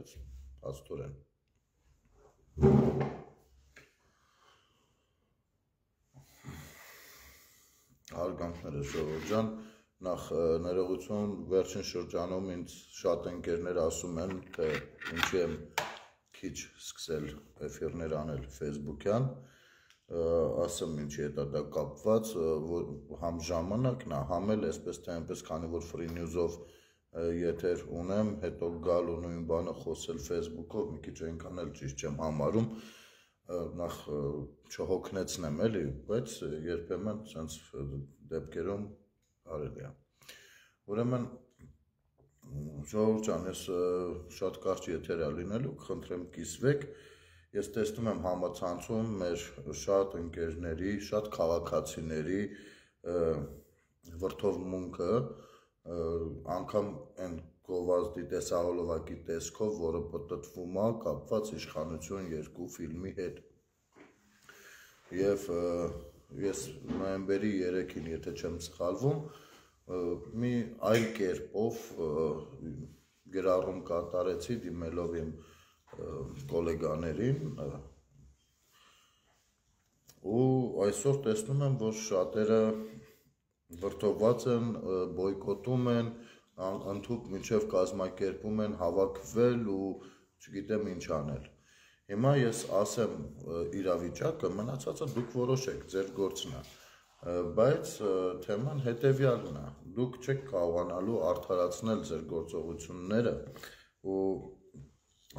այդպես աստորեն։ Հարգանքները Ժողովուրդ ջան, նախ ներողություն, վերջին շրջանում ինձ շատ ընկերներ ասում են, թե ինչի եմ քիչ սկսել էֆիրներ անել Facebook-յան, ասեմ ինչի հետ դա կապված, համ ժամանակն է, համ էլ այսպես թե այնպես, քանի որ free news-ով եթեր ունեմ, հետո գալ ու նույն բանը խոսել Facebook-ով, մի քիչ այնքան էլ ճիշտ չեմ համարում, նախ չհոգնեցնեմ էլի, բայց երբեմն սենց դեպքերում արելի է։ Ուրեմն Ժողովուրդ ջան, ես շատ կարճ եթեր է լինելու, կխնդրեմ կիսվեք, ես տեսնում եմ համացանցում մեր շատ ընկերների, շատ քաղաքացիների վրդովմունքը, անգամ այն գովազդի տեսահոլովակի տեսքով, որը պտտվում է կապված իշխանություն 2 ֆիլմի հետ։ Եվ ես նոյեմբերի 3-ին, եթե չեմ սխալվում, մի այլ կերպով գրառում կատարեցի դիմելով իմ գոլեգաներին ու այսօր տեսնում եմ, որ շատերը վրդովված են, բոյկոտում են, ընդհուպ մինչև կազմակերպում են հավաքվել ու չգիտեմ ինչ անել։ Հիմա ես ասեմ իրավիճակը, մնացածը դուք որոշեք, ձեր գործն է, բայց թեման հետևյալն է, դուք չեք կարողանալու արդարացնել ձեր գործողությունները ու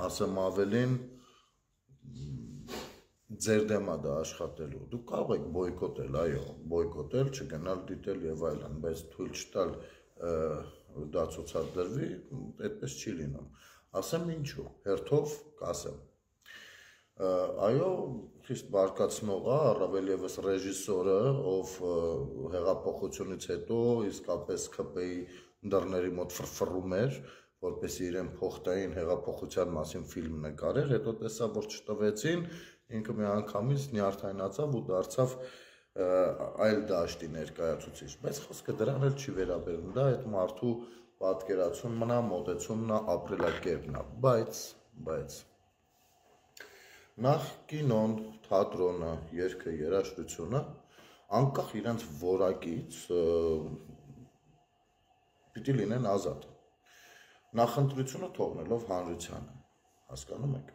ասեմ ավելին ձեր դեմ է դա աշխատելու, դուք կարող եք բոյկոտել, այո, բոյկոտել, չգնալ դիտել եւ այլն, բայց թույլ չտալ դա ցուցադրվի, այդպես չի լինում։ Ասեմ ինչու, հերթով կասեմ։ Այո, խիստ բարկացնող է, առավել ևս ռեժիսորը, ով հեղափոխությունից հետո իսկապես ՔՊ-ի դռների մոտ ֆրֆռում էր, որպեսզի իրեն փոխտային հեղափոխության մասին ֆիլմ նկարեր, հետո տեսավ, որ չտվեցին, ինքը միանգամից նյարդայնացավ ու դարձավ այլ դաշտի ներկայացուցիչ, բայց խոսքը դրան էլ չի վերաբերում, դա այդ մարդու պատկերացումն է, մոտեցումն է, ապրելակերպն է, բայց նախ կինոն, թատրոնը, երգը, երաժշտությունը անկախ իրենց որակից պիտի լինեն ազատ։ Նախընտրությունը թողնելով հանրությանը, հասկանում եք։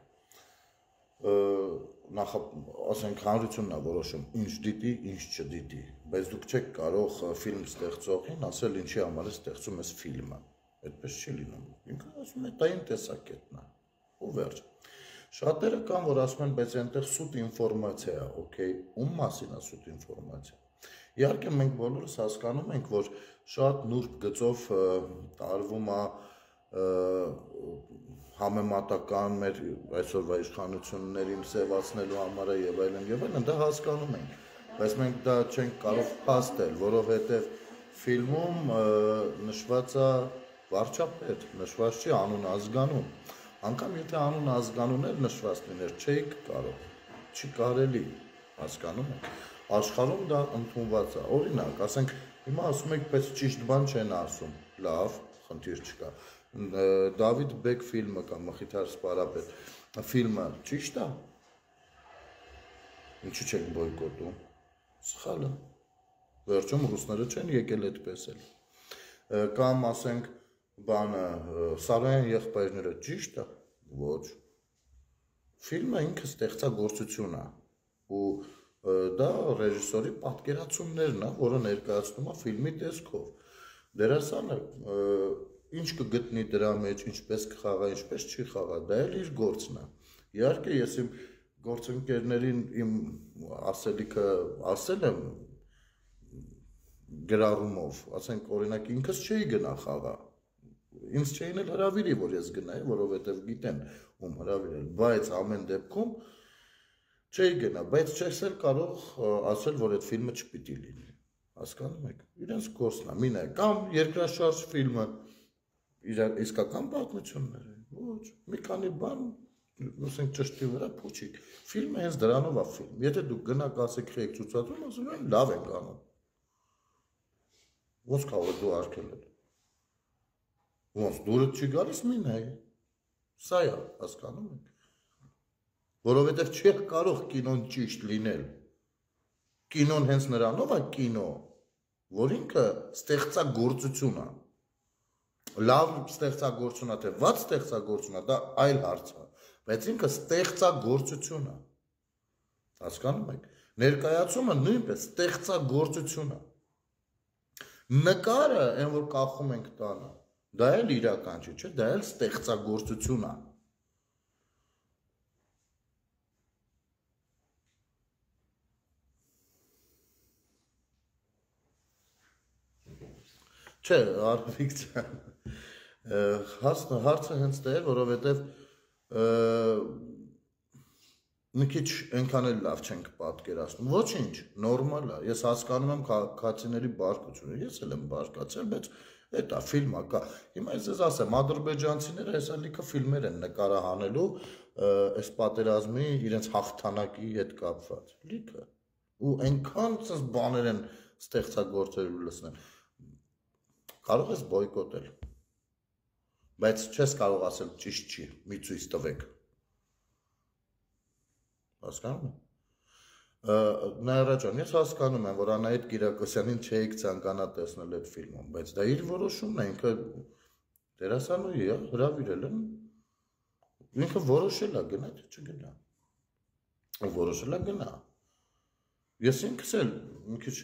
Ասենք հանրությունն է որոշում ինչ դիտի, ինչ չդիտի, բայց դուք չեք կարող ֆիլմ ստեղծողին ասել ինչի համար է ստեղծում ես ֆիլմը, այդպես չի լինում, ինքը ասում է դա իմ տեսակետն է, ու վերջ։ Շատերը կան, որ ասում են, բայց այնտեղ սուտ ինֆորմացիա է, օքեյ, ում մասին է սուտ ինֆորմացիա։ Իհարկե մենք բոլորս հասկանում ենք, որ շատ նուրբ գծով տարվում է համեմատական մեր այսօրվա իշխանություններին սևացնելու համար եւ այլն, դա հասկանում ենք, բայց մենք դա չենք կարող փաստել, որովհետեւ ֆիլմում նշված է վարչապետ, նշված չի անուն ազգանուն, անգամ եթե անուն ազգանուն էլ նշված լիներ, չէիք կարող, չի կարելի, հասկանում եք, աշխարհում դա ընդունված է, օրինակ, ասենք, հիմա ասում եք, բայց ճիշտ բան չեն ասում, լավ, խնդիր չկա, Դավիթ Բեկ ֆիլմը կամ Մխիթար Սպարապետ ֆիլմը ճիշտ է, ինչու չեք բոյկոտում, սխալ է, վերջում ռուսները չեն եկել այդպես էլ, կամ ասենք, բանը Սարոյան եղբայրները ճիշտ է, ոչ, ֆիլմը ինքը ստեղծագործություն է ու դա ռեժիսորի պատկերացումներն է, որը ներկայացնում է ֆիլմի տեսքով, դերասանը ինչ կգտնի դրա մեջ, ինչպես կխաղա, ինչպես չի խաղա, դա էլ իր գործն է, իհարկե ես իմ գործընկերներին իմ ասելիքը ասել եմ գրառումով, ասենք օրինակ ինքս չէի գնա խաղա, ինձ չէին էլ հրավիրի, որ ես գնայի, որովհետև գիտեն ում հրավիրել, բայց ամեն դեպքում չէի գնա, բայց չես էլ կարող ասել, որ այդ ֆիլմը չպիտի լինի, հասկանում եք, իրենց գործն է, մինը, կամ երկրաշարժ ֆիլմը, իսկական պատմություններ են, ոչ, մի քանի բան, ասենք ճշտի վրա փուչիկ, ֆիլմը հենց դրանով է ֆիլմ, եթե դուք գնաք ասեք խեք ցուցադրում, ասում են լավ ենք անում, ոնց կարող է դու արգելել, ոնց դուրդ չի գալիս մի նայ, Սա է, հասկանում եք։ Որովհետև չի կարող կինոն ճիշտ լինել։ Կինոն հենց նրանով է կինո, որ ինքը ստեղծագործություն է։ Լավ ստեղծագործություն է, թե վատ ստեղծագործություն է, դա այլ հարց է, բայց ինքը ստեղծագործություն է։ Հասկանում եք։ Ներկայացումը նույնպես ստեղծագործություն է։ Նկարը, այն որ կախում ենք տանը, դա էլ իրական չի, չէ՞, դա էլ ստեղծագործություն է։ Չէ, Արվիկ ջան, հարցը հենց դա է, որովհետև մի քիչ այնքան էլ լավ չենք պատկերացնում։ Ոչինչ, նորմալ է։ Ես հասկանում եմ քաղաքացիների բարկությունը, ես էլ եմ բարկացել, բայց դա ֆիլմ է կա։ Հիմա ես ասեմ, ադրբեջանցիները հեսա լիքը ֆիլմեր են նկարահանելու այս պատերազմի իրենց հաղթանակի հետ կապված։ Լիքը։ Ու այնքան ցած բաներ են ստեղծագործել ու լսնել։ Կարող ես բոյկոտել, բայց չես կարող ասել ճիշտ չի, մի ցույց տվեք։ Հասկանում եք։ Նայրա ջան, ես հասկանում եմ, որ Անահիտ Կիրակոսյանին չէիք ցանկանա տեսնել այդ ֆիլմում, բայց դա իր որոշումն է, ինքը դերասանուհի է, հրավիրել են, ինքը որոշել է գնա, թե չգնա։ Որոշել է գնա։ Ես ինքս էլ մի քիչ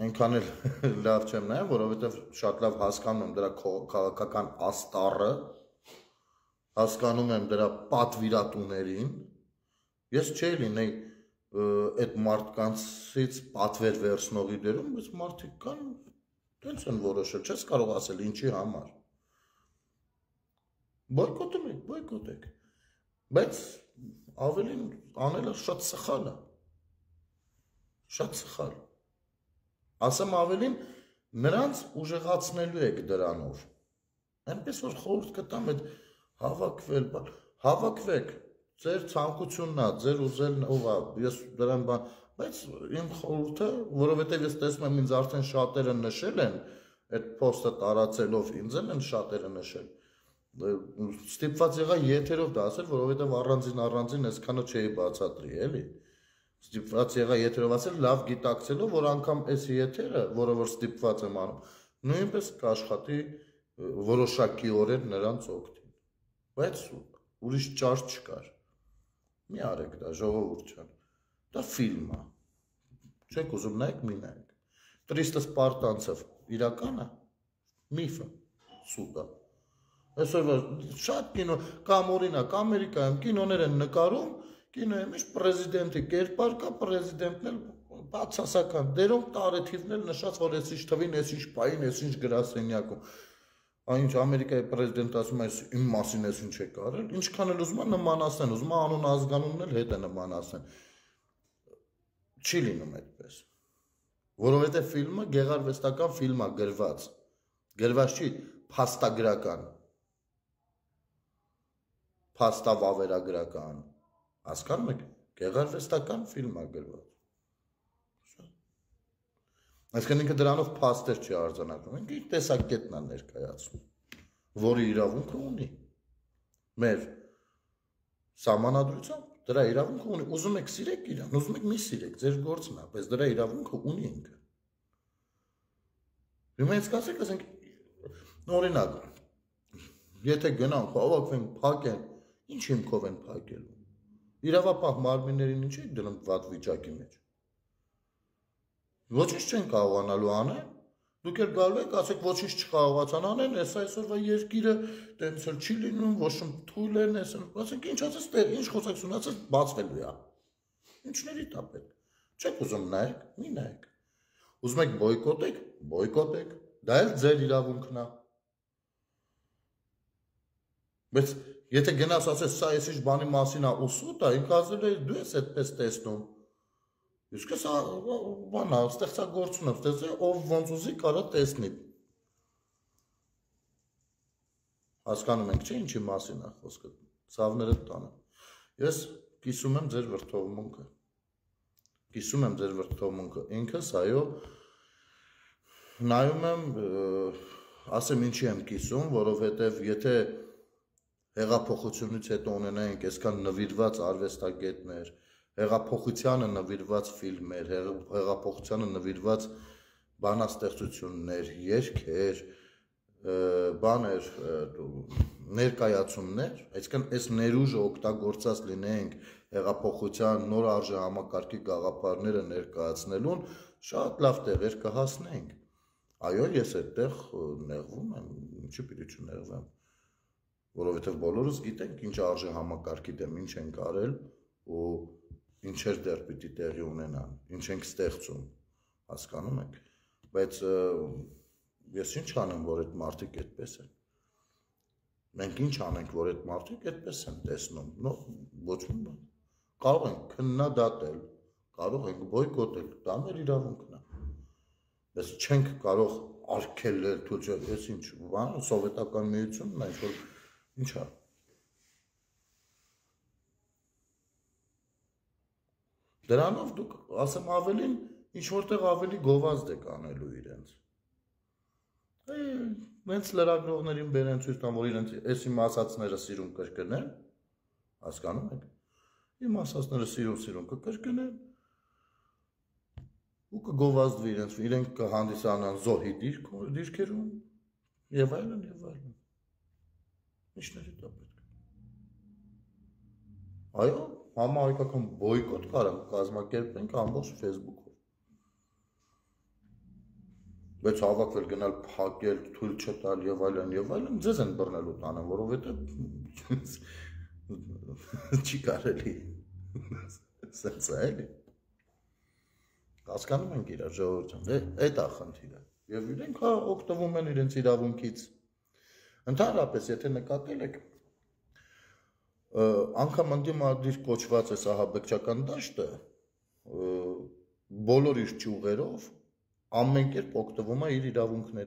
այնքան էլ լավ չեմ նայում, որովհետև շատ լավ հասկանում եմ դրա քաղաքական աստառը, հասկանում եմ դրա պատվիրատուներին, ես չէի լինեի այդ մարդկանցից պատվեր վերցնողի դերում, բայց մարդիկ կան, տենց են որոշել, չես կարող ասել ինչի համար։ Բոյկոտում եք, բոյկոտեք, բայց ավելին անելը շատ սխալ է, շատ սխալ։ Ասեմ ավելին, նրանց ուժեղացնելու եք դրանով, այնպես որ խորհուրդ կտամ այդ հավաքվեք, ձեր ցանկությունն է, ձեր ուզելն ով է, ես դրան բան, բայց իմ խորհուրդը, որովհետև ես տեսնում եմ ինձ արդեն շատերը նշել են, այդ պոստը տարածելով ինձ են շատերը նշել, ստիպված եղա եթերով դա ասել, որովհետև առանձին այսքանը չէի բացատրի, էլի, ստիպված եղա եթերով ասել, լավ գիտակցելով, որ անգամ այս եթերը, որը որ ստիպված եմ անում, նույնպես կաշխատի որոշակիորեն նրանց օգտին, բայց ուրիշ ճար չկար, մի արեք դա, ժողովուրդ ջան, դա ֆիլմ է, չեք ուզում նայեք, մի նայեք, Տրիստը Սպարտանցև իրական է, միֆը, սուտ է, այսօր շատ կինո, կամ օրինակ Ամերիկայում կինոներ են նկարում, կինոյի մեջ պրեզիդենտի կերպար կա, պրեզիդենտն էլ բացասական, դերում տարեթիվն էլ նշած, որ ես ինչ թվին, ես ինչ պային, ես ինչ գրասենյակում, այնչ Ամերիկայի պրեզիդենտ ասում է, իմ մասին ես ինչ եք արել, ինչքան էլ ուզում է նմանացնեն, ուզում է անուն ազգանունն էլ հետ է նմանացնեն, չի լինում այդպես, որովհետև ֆիլմը գեղարվեստական ֆիլմ է գրված չի փաստագրական, փաստավավերագրական, հասկանում եք, գեղարվեստական ֆիլմ է գրված, այսինքն ինքը դրանով փաստեր չի արձանագրում, ինքը իր տեսակետն է ներկայացնում, որի իրավունքը ունի, մեր սահմանադրությամբ դրա իրավունքը ունի, ուզում եք սիրեք իրան, ուզում եք մի սիրեք, ձեր գործն է, բայց դրա իրավունքը ունի ինքը, հիմա ես կասեք, ասենք, օրինակ, եթե գնանք, հավաքվենք, փակեն, ինչ հիմքով են փակելու, իրավապահ մարմիններին ինչ եք դնում վատ վիճակի մեջ, ոչինչ չեն կարողանալու անել, դուք էլ գալու եք, ասեք ոչինչ չկարողացան անել, այս այսօրվա երկիրը տենց էլ չի լինում, ոչ թույլ են, ասենք ինչ ասես տեղ, ինչ խոսակցություն ասես բացվելու է, ինչների տա պետք, չեք ուզում նայեք, մի նայեք, ուզում եք բոյկոտեք, դա էլ ձեր իրավունքն է, բայց եթե գնաս ասես սա ես ինչ բանի մասին է ուսուտ է, ինքը ասել է դու ես այդպես տեսնում, իսկ ես բանա, ստեղծագործություն եմ ստեղծել, ով ոնց ուզի կարա տեսնի, հասկանում ենք չէ ինչի մասին է խոսքը, ցավները տանը, ես կիսում եմ ձեր վրդովմունքը, ինքս այո, նայում եմ, ասեմ ինչի եմ կիսում, որովհետև եթե հեղափոխությունից հետո ունենայինք այսքան նվիրված արվեստագետներ, հեղափոխությանը նվիրված ֆիլմեր, հեղափոխությանը նվիրված բանաստեղծություններ, երգեր, բաներ, ներկայացումներ, այսինքն այս ներուժը օգտագործած լինենք հեղափոխության նոր արժե համակարգի գաղափարները ներկայացնելուն, շատ լավ տեղեր կհասնենք։ Այո, ես այդտեղ նեղվում եմ, ինչի պիտի չնեղվեմ, որովհետև բոլորս գիտենք ինչ արժե համակարգի դեմ ինչ ենք արել ու ինչեր դեռ պիտի տեղի ունենան, ինչ ենք ստեղծում, հասկանում եք, բայց ես ինչ անեմ, որ այդ մարդիկ այդպես են։ Մենք ինչ անենք, որ այդ մարդիկ այդպես են տեսնում, ոչ մի բան։ Կարող ենք քննադատել, կարող ենք բոյկոտել, դա մեր իրավունքն է։ Բայց չենք կարող արգելել, թույլ, ես ինչ, բան, սովետական միությունն է, ինչ-որ, ինչ է։ Դրանով դուք, ասեմ ավելին, ինչ-որտեղ ավելի գովազդ եք անելու իրենց։ Մենց լրագրողներին բերեն ցույց տան, որ իրենց այս իմ ասածները սիրուն կրկնեն, հասկանում եք, իմ ասածները սիրուն կկրկնեն, ու կգովազդվի իրենք կհանդիսանան զոհի դիրքերում, և այլն, և այլն, ինչների դա պետք է։ Այո, համահայկական բոյկոտ կարող կազմակերպենք ամբողջ Facebook-ով։ Բայց հավաքվել գնալ փակել, թույլ չտալ եւ այլն, ձեզ են բռնելու տանը, որովհետեւ չի կարելի։ Սենց է, էլի։ Հասկանում ենք իրար ժողովրդին, այդ է խնդիրը։ Եվ իրենք օգտվում են իրենց իրավունքից։ Ընդհանրապես, եթե նկատել եք, անգամ ընդդիմադիր կոչված է ահաբեկչական դաշտը, բոլոր իր ճյուղերով ամեն կերպ օգտվում է իր իրավունքների